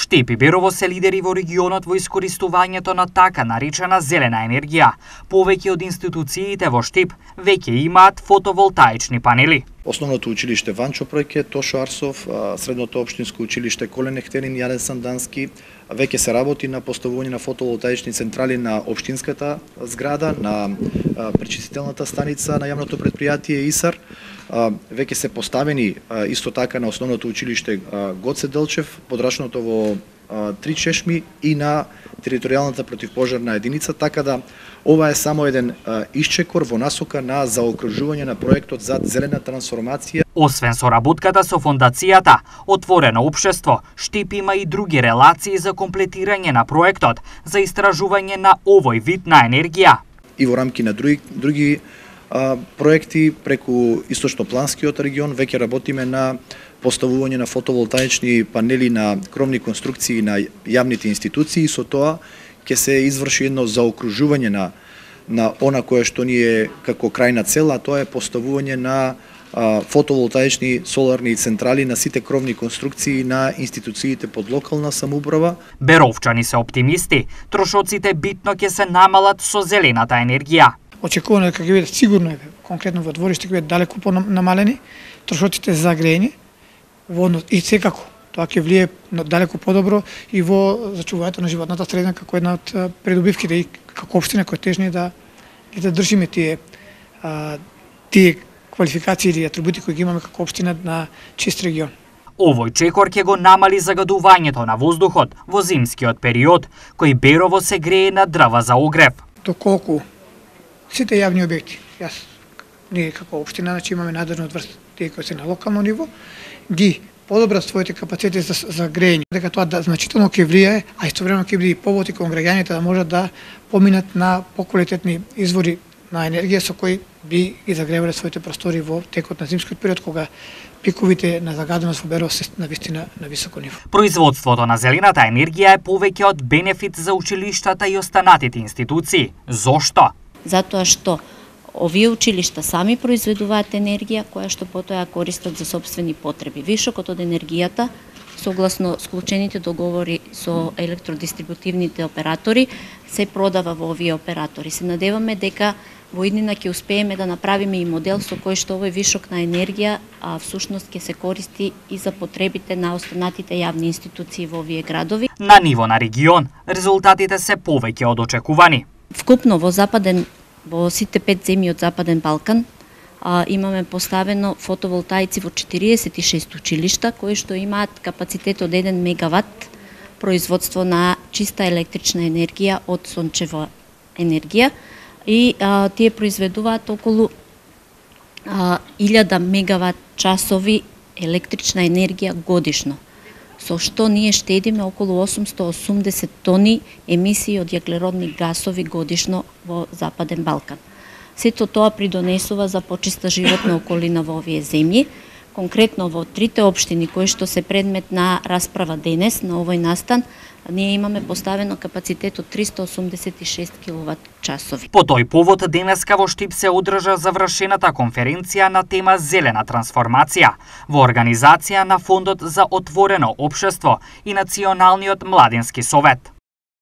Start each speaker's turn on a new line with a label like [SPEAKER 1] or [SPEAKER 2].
[SPEAKER 1] Штип и Берово се лидери во регионот во искористувањето на така наречена зелена енергија. Повеќе од институциите во Штип веќе имаат фотоволтаични панели.
[SPEAKER 2] Основното училиште Ванчо Пројке, Тошо Арсов, средното општинско училиште Колен Ехтерин, Јаден Сандански, веќе се работи на поставување на фотоволтаични централи на општинската зграда, на пречистителната станица на јавното претпријатие ИСАР. Веќе се поставени исто така на основното училиште Гоце Делчев, подрачното во Три Чешми и на територијалната противпожарна единица, така да ова е само еден исчекор во насока на заокружување на проектот за зелена трансформација.
[SPEAKER 1] Освен соработката со фондацијата Отворено општество, Штип има и други релации за комплетирање на проектот за истражување на овој вид на енергија.
[SPEAKER 2] И во рамки на други проекти преку Источнопланскиот регион веќе работиме на поставување на фотоволтаични панели на кровни конструкции на јавните институции и со тоа ќе се изврши едно заокружување на она кое што ни е како крајна цел, а тоа е поставување на фотоволтаични соларни централи на сите кровни конструкции на институциите под локална самоуправа.
[SPEAKER 1] Беровчани се оптимисти, трошоците битно ќе се намалат со зелената енергија.
[SPEAKER 3] Очекувано дека ќе бидат сигурно конкретно во двориште ќе бидат далеку понамалени трошоците за грејење и секако тоа ќе влие далеку подобро и во зачувањето на животната средина како една од придобивките и како општина која тежни да држиме тие квалификации или атрибути кои ги имаме како општина на чист регион.
[SPEAKER 1] Овој чекор ќе го намали загадувањето на воздухот во зимскиот период, кој Берово се грее на дрва за огрев.
[SPEAKER 3] Доколку сите јавни објекти, ние како општина, значи имаме надлежност врз тие кои се на локално ниво, ги подобрат своите капацитети за грејење, дека тоа значително ќе влијае, а истовремено ќе биде и повод и кон граѓаните да можат да поминат на поквалитетни извори на енергија со кои би ги загревале своите простори во текот на зимскиот период, кога пиковите на загаденост во Берово се навистина на високо ниво.
[SPEAKER 1] Производството на зелената енергија е повеќе од бенефит за училиштата и останатите институции. Зошто?
[SPEAKER 4] Затоа што овие училишта сами произведуваат енергија која што потоа ја користат за сопствени потреби. Вишокот од енергијата, согласно склучените договори со електродистрибутивните оператори, се продава во овие оператори. Се надеваме дека во иднина ќе успееме да направиме и модел со кој што овој вишок на енергија всушност ќе се користи и за потребите на останатите јавни институции во овие градови.
[SPEAKER 1] На ниво на регион, резултатите се повеќе од очекувани.
[SPEAKER 4] Вкупно во сите 5 земји од Западен Балкан имаме поставено фотоволтаици во 46 училишта кои што имаат капацитет од 1 мегават производство на чиста електрична енергија од сончева енергија и тие произведуваат околу 1000 мегават часови електрична енергија годишно, со што ние штедиме околу 880 тони емисии од јаглеродни гасови годишно во Западен Балкан. Сето тоа придонесува за почиста животна околина во овие земји. Конкретно во трите општини кои што се предмет на расправа денес на овој настан, ние имаме поставено капацитет од 386 киловат часови.
[SPEAKER 1] По тој повод денеска во Штип се одржа завршената конференција на тема зелена трансформација во организација на Фондот за отворено општество и Националниот младински совет.